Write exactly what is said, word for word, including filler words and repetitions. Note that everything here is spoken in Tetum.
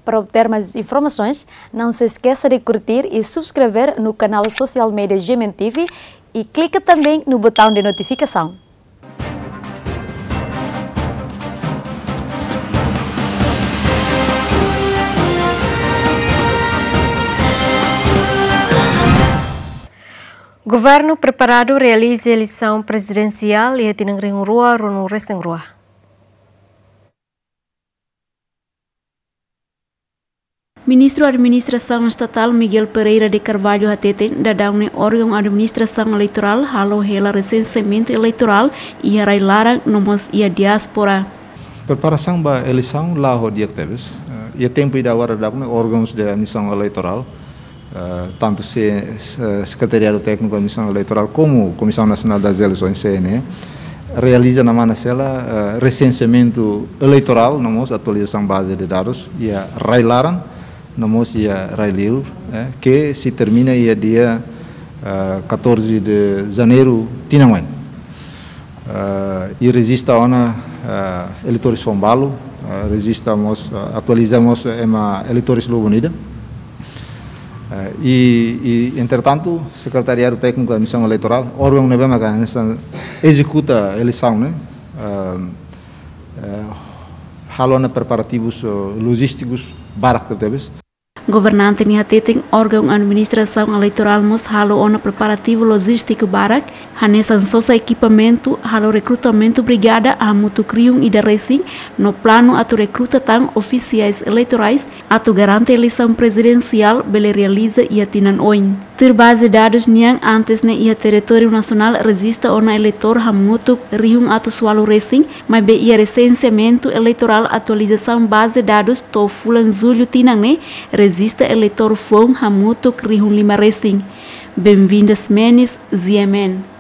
Para obter mais informações, não se esqueça de curtir e subscrever no canal social media G M N T V e clica também no botão de notificação. Governu preparadu realiza eleisaun prezidensiál iha tinan rihun rua ruanulu resin rua. Ministru Administrasaun Estatál Miguel Pereira de Carvalho hateten, daudaun ne'e órgaun administrasaun eleitorál halo hela resenseamentu eleitorál iha rai-laran no mós iha diáspora. Preparasaun ba eleisaun la'o di'ak tebes. Eh, iha tempu ida agora daudaun ne'e órgãos de admissão eleitoral, eh, tantu se, se, Secretariado Técnico de Admissão Eleitoral, como Comissão Nacional das Eleições, C N E, realiza ona mós hela, eh, resenseamentu eleitorál, no mós atualizasaun baze de dadus, iha rai-laran, no mós iha rai-liur, eh, que sei termina iha dia, eh, catorze de janeiro tinan oin. Eh, i rejista ona, eh, eleitores foun balu, eh, rejista mós, eh, atualiza mós ema eleitores lubun ida. Eh, i, i, entretantu, Secretariado Técnico de Admissão Eleitoral, órgaun ne'ebé maka hanesan ezekuta eleisaun ne'e, eh, eh, halo ona preparativus, eh, lojístikus barak tebes. Governante ne'e hateten, órgaun administrasaun eleitorál mós halo ona preparativu lojístiku barak, hanesan sosa ekipamentu, halo rekrutamentu brigada hamutuk rihun ida resin, no planu atu rekruta tan ofisiais eleitorais, atu garante eleisaun prezidensiál bele realiza iha tinan oin. Tuir baze dadus nian, antes ne'e iha territóriu nasionál rejista ona eleitór hamutuk rihun atus ualu resin, maibé iha resenseamentu eleitorál atualizasaun baze dadus to'o fulan jullu tinan ne'e, rejista eleitór foun hamutuk rihun lima resin. Benvinda Ximenes, G M N.